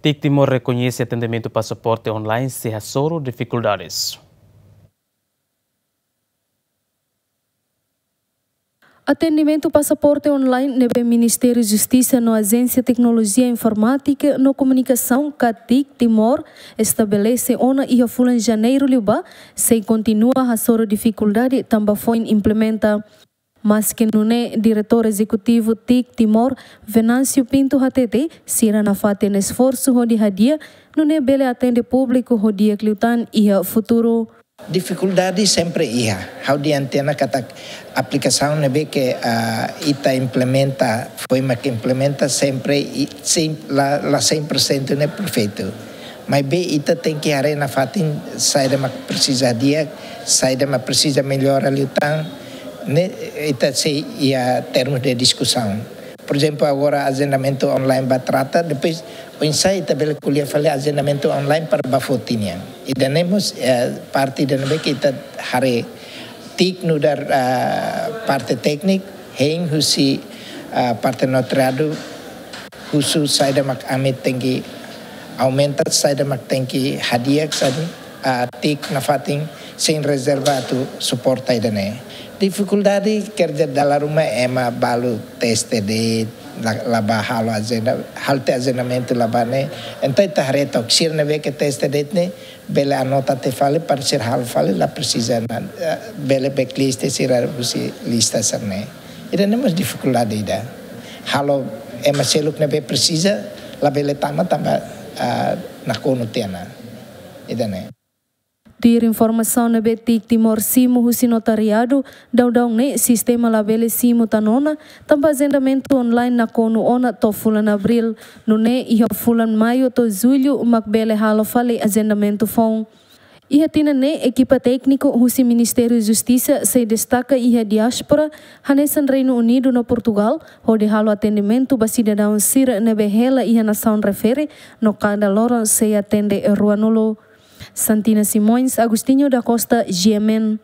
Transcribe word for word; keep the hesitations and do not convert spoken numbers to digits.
TIC Timor rekoñese atendimentu pasaporte online sei hasoru difikuldades. Atendimentu pasaporte online ne'ebé Ministériu Justisa no Ajénsia Teknolojia Informátika no Komunikasaun ka TIC Timor estabelese ona iha fulan Janeiru liubá, sei kontinua hasoru difikuldade tanba foin implementa. Maske nune'e, Diretór Ezekutivu TIC Timor, Venâncio Pinto hatete, sira nafatin esforsu hodi hadi'a, nune'e bele atende públiku ho di'ak liután iha futuru. Difikuldade sempre iha. Ha'u dehan tiha ona katak aplikasaun ne'ebé ke, ah, ita implementa, foin mak implementa sempre i-, sem-, la, la cem por cento ne'e perfeitu. Maibé ita tenke haree nafatin saida mak presiza di'ak, saida mak presiza mellora liután, ne'e ita sei iha termus de diskusaun. Por ezemplu, agora ajendamentu online ba trata, depois oinsá ita bele ko'alia fali ajendamentu online para ba foti nian. Ida-ne'e mós, eh, parte ida ne'ebé ke ita haree TIC nu'udar, ah, parte tékniku, hein husi, ah, parte notariadu, husu saida mak ami tenke aumenta, saida mak tenke hadi'a, saida, ah, TIC nafatin sein rezerva atu suporta ida-ne'e. Difikuldade, quer dizer, dala ruma ema balu teste de'it, la, la bá halo ajenda, halo tiha ajendamentu la bá ne'e. Entaun ita haree took sira ne'ebé ke teste de'it ne'e, bele anota tiha fali, para sira halo fali, la presiza ona, eh, bele backlist sira husi lista sira-ne'e. Ida-ne'e mós difikuldade ida. Halo ema seluk ne'ebé presiza, labele tama tanba, ah, nakonu tiha ona. Ida-ne'e. Tuir informasaun ne'ebé TIC Timor simu husi notariadu, daudaun ne'e sistema labele simu tan ona, tanba ajendamentu online nakonu ona to'o fulan Abríl, nune'e iha fulan Maiu to'o Jullu mak bele halo fali ajendamentu foun. Iha tinan ne'e, ekipa tékniku husi Ministériu Justisa sei destaka iha diáspora, hanesan Reinu Unidu no Portugál, hodi halo atendimentu ba sidadaun sira ne'ebé hela iha nasaun refere, no kada loron sei atende ruanulu. Santina Simões, Agostinho da Costa, G M N.